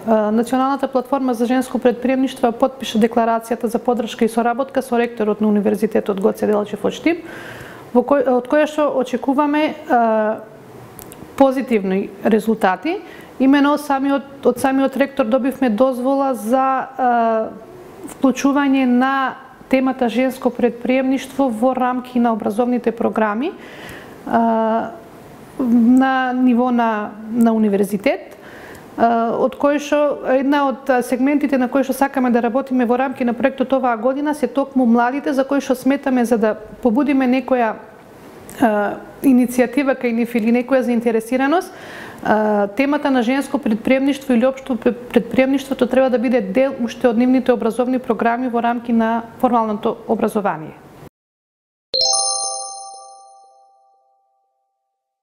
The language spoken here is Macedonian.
Националната платформа за женско претприемништво потпиша декларацијата за поддршка и соработка со ректорот на Универзитетот Гоце Делчев од Штип, од која што очекуваме позитивни резултати. Имено од самиот ректор добивме дозвола за вклучување на темата женско претприемништво во рамки на образовните програми на ниво на универзитет, од кој што една од сегментите на кои што сакаме да работиме во рамки на проектот оваа година се токму младите, за кои што сметаме за да побудиме некоја иницијатива кај нив или некоја заинтересираност, темата на женско претприемништво или општо претприемништвото треба да биде дел уште од нивните образовни програми во рамки на формалното образование.